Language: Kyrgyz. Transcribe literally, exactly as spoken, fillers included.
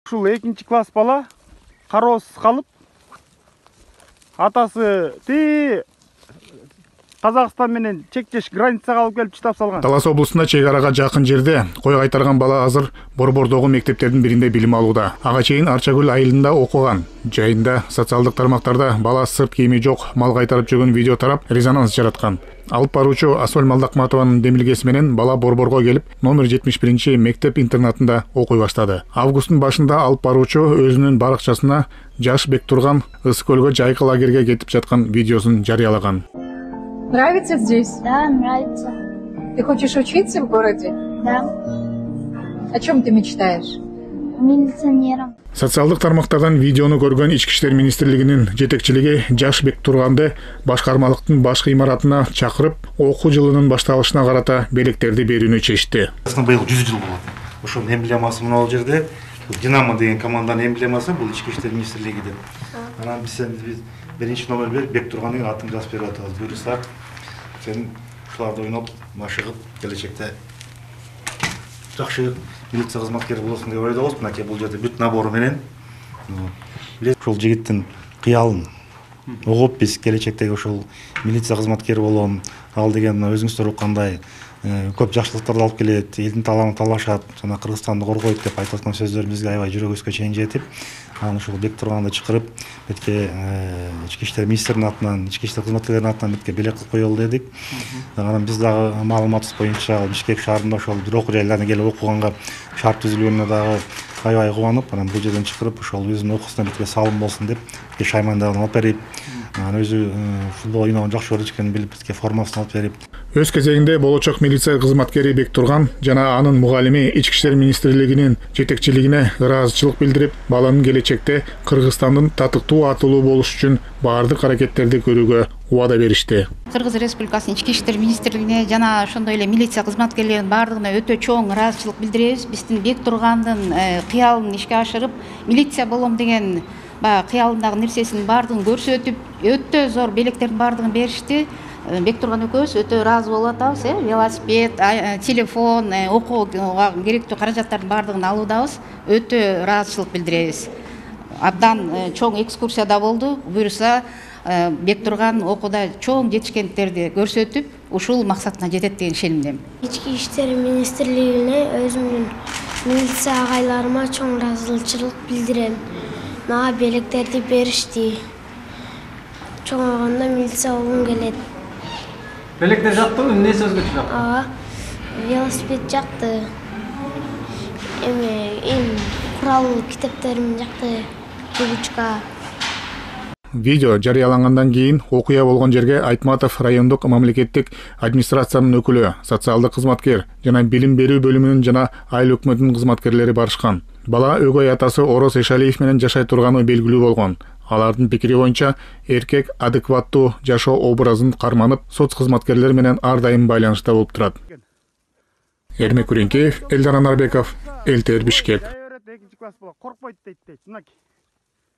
Ушул экинчи класс бала кароосуз калып, атасы ти Казакстан менен чектеш границага алып келип чыдап салган. Талас облусунда чек арага жакын жерде кой кайтарган бала азыр Борбордогу мектептердин биринде билим алууда. Ага чейин Арчагүл айылында окуган. Жайында социалдык тармактарда бала сырт кийими жок мал кайтарып жүргөн видео тарап, резонанс жараткан. Алып баруучу Асөл Малдакматованын демилгеси менен бала Борборго келип, номер жетимиш биринчи мектеп-интернатында окуй баштады. Августтун башында алып баруучу өзүнүн баракчасына жаш Бектурган Ысык көлгө жайкы лагерге кетип жаткан видеосун жарыялаган. Нравится здесь? Да, нравится. Ты хочешь учиться в городе? Да. О чем ты мечтаешь? Милиционером. Социалдык тармактардан видеону көргөн Ички иштер министрлигинин жетекчилиги жаш Бектурганды башкармалыктын баш имаратына чакырып, окуу жылынын башталышына карата белектерди берүүнү чечти. Быйыл жүз жыл болот. Ошонун эмблемасы мына бул жерде. Динамо деген команданын эмблемасы бул Ички иштер министрлиги деп. Анан биз биринчи номер берип Бектурган деген атын жазып берип атабыз. Буюрса, сен ушуларды ойноп, машыгып, келечекте жакшы милиция кызматкери болосуң деп ойлойбуз. Мынакей бул жерде бүт набору менен ушул жигиттин кыялын угуп биз келечектеги ушул милиция кызматкери болом, ал деген өзүңүздөр уккандай көп жакшылыктарды алып келет, элдин талабын талашат, жана Кыргызстанды коргойт деп айтып аткан сөздөр бизге аябай жүрөгүбүзгө чейин жетип, анан ушул Бектурганды чакырып, бетке Ички иштер министринин атынан, ички иштер кызматкерлеринин атынан бетке белек кылып коелу дедик. Анан биз дагы маалыматыбыз боюнча Бишкек шаарында ошол бир окуу жайларына келип окуганга шарт түзүлгөнүнө дагы аябай кубанып, анан бул жерден чакырып, ошол өзүнүн окуусуна бетке салым болсун деп, шаймандарын алып берип, анан өзү футбол ойногонду жакшы көрөт экенин билип, бетке формасын алып берип. Өз кезегинде болочок милиция кызматкери Бектурган жана анын мугалими Ички иштер министрлигинин жетекчилигине ыраазычылык билдирип, баланын келечекте Кыргызстандын татыктуу атылуу болуш үчүн баардык аракеттерди көрүүгө убада беришти. Кыргыз Республикасынын Ички иштер министрлигине жана ошондой эле милиция кызматкерлеринин баардыгына өтө чоң ыраазычылык билдиребиз. Биздин Бектургандын кыялын ишке ашырып, милиция болом деген баягы кыялындагы нерсесинин баардыгын көрсөтүп, өтө зор белектердин баардыгын беришти. Бектурган экөөбүз өтө ыраазы болуп атабыз, э, велосипед, телефон, окууга керектүү каражаттардын баардыгын алуудабыз. Өтө ыраазычылык билдиребиз. Абдан чоң экскурсия да болду. Буюрса, Бектурган окууда чоң жетишкендиктерди көрсөтүп, ушул максатына жетет деген ишенимдемин. Ички иштер министрлигине өзүмдүн милиция агайларыма чоң ыраазычылык билдирем. Мага белектерди беришти. Чоңойгондо милиция болгум келет. Белектер жактыбы? Эмнеси өзгөчө жакты? Ага. Велосипед жакты. Эме, эм курал китептерим жакты. Ручка. Видео жарыялангандан кийин окуя болгон жерге Айтматов райондук мамлекеттик администрациянын өкүлү, социалдык кызматкер жана билим берүү бөлүмүнүн жана айыл өкмөтүнүн кызматкерлери барышкан. Бала өгөй атасы Орос Эшалиев менен жашай турганы белгилүү болгон. Алардын пикири боюнча эркек адекваттуу жашоо образын карманып, соц кызматкерлери менен ар дайым байланышта болуп турат. Эрмек Күреңкеев, Элдар Анарбеков, эл тэ эр Бишкек. Коркпойт дейт дейт.